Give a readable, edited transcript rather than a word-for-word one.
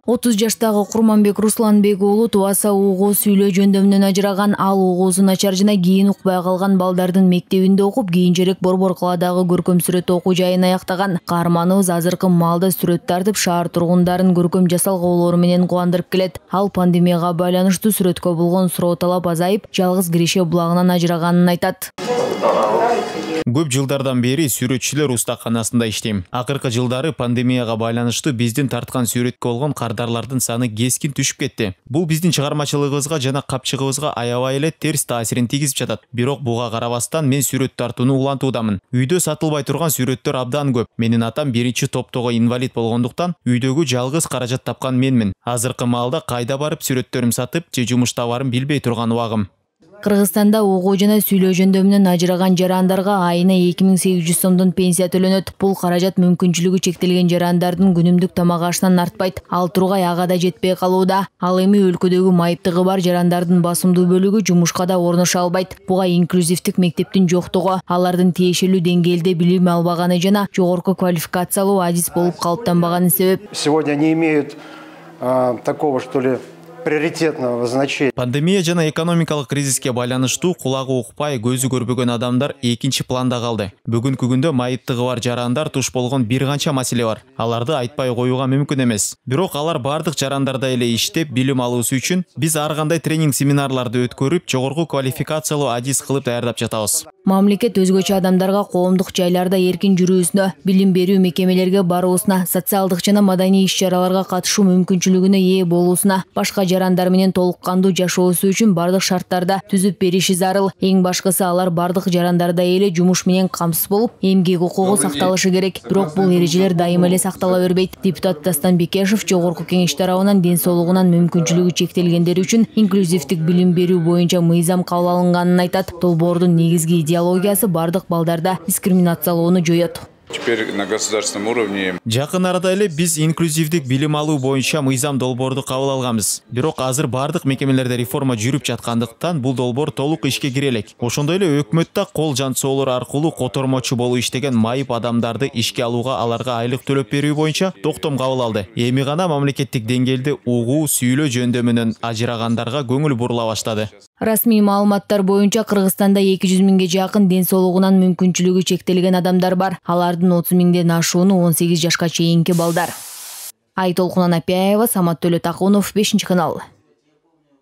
30 жаштагы Курманбек Русланбек уулу тубаса угуу сүйлөө жөндөмүнөн ажыраган. Ал угуусу начар жана кийин укпай калган балдардын мектебинде окуп, кийинчерээк Борбор калаадагы көркөм сүрөт окуу жайын аяктаган. Каарманыбыз азыркы маалда сүрөт тартып, шаар тургундарын көркөм жасалгоолору менен кубандырып келет. Ал пандемияга байланыштуу сүрөткө болгон суроо талап азайып, жалгыз Киреше булагынан ажыраганын айтат. Көп жылдардан бери сүрөтчүлөр устаканасында иштейм. Акыркы жылдары пандемияга байланыштуу биздин тарткан сүрөткө болгон кардарлардын саны кескин түшүп кетти. Бул биздин чыгармачылыгыбызга жана капчыгыбызга аябай эле терс таасирин тийгизип жатат. Бирок буга карабастан мен сүрөт тартууну улантуудамын. Үйдө сатылбай турган сүрөттөр абдан көп. Менин атам биринчи топтогу инвалид болгондуктан үйдөгү жалгыз каражат тапкан менмин. Азыркы маалда кайда барып сүрөттөрүм сатып же жумуш табарым билбей турган убагым. Кыргызстанда угуу жана сүйлөө жөндөмүнөн ажыраган жарандарга айына 2800 сомдон пенсия төлөнөт. Бул каражат мүмкүнчүлүгү чектелген жарандардын күнүмдүк тамак ашынан артпайт. Ал тургай ага да жетпей калууда. Ал эми өлкөдөгү майыптыгы бар жарандардын басымдуу бөлүгү жумушка да орношо албайт. Буга инклюзивдик мектептин жоктугу, алардын тиешелүү деңгээлде билим албаганы жана жогорку квалификациялуу адис болуп калыптанбаганы себеп. Сегодня они имеют такого, что ли, приоритетного значения. Пандемия жана экономикалык кризиске байланыштуу кулагы укпай, көзү көрбөгөн адамдар экинчи планда калды. Бүгүнкү күндө майыптыгы бар жарандар туш болгон бир канча маселе бар. Аларды айтпай коюуга мүмкүн эмес. Бирок алар бардык жарандарда эле иштеп, билим алуусу үчүн биз ар кандай тренинг семинарларды өткөрүп, жогорку квалификациялуу адис кылып даярдап жатабыз. Мамлекет өзгөчө адамдарга коомдук жайларда эркин жүрүүсүнө, билим берүү мекемелерге баруусуна, социалдык жана маданий иш-чараларга катышуу мүмкүнчүлүгүнө ээ болуусуна, башка жарандар менен толук кандуу жашоосу үчүн бардык шарттарда түзүп бериши зарыл. Эң башкысы алар бардык жарандарда эле жумуш менен камсыз болуп, эмгек укугу сакталышы керек. Бирок бул эрежелер дайыма эле сактала бербейт. Депутат Дастан Бекешев жогорку кеңеш тарабынан ден соолугунан мүмкүнчүлүгү чектелгендер үчүн инклюзивдик билим берүү боюнча мыйзам кабыл алынганын айтат. Долбоордун негизги идеологиясы бардык балдарда дискриминациялоону жоет. Теперь на государственном уровне. Жакын арада эле биз инклюзивдик билим алуу боюнча мыйзам долбоорду кабыл алганбыз. Бирок азыр бардык мекемелерде реформа жүрүп жаткандыктан бул долбоор толук ишке кире элек. Ошондой эле өкмөт да кол жан соолор аркылуу котормочу болуп иштеген майып адамдарды ишке алууга, аларга айлык төлөп берүү боюнча токтом кабыл алды. Эми гана мамлекеттик деңгээлде угуу сүйлөө жөндөмүнөн ажырагандарга көңүл бурула баштады. Расмий маалыматтар боюнча Кыргызстанда 200 миңге жакын ден соолугунан мүмкүнчүлүгү чектелген адамдар бар. Алардын 30 миңден ашууну 18 жашка чейинки балдар. Айтолкун Анапияева, Самат Төлөтакунов, 5 канал.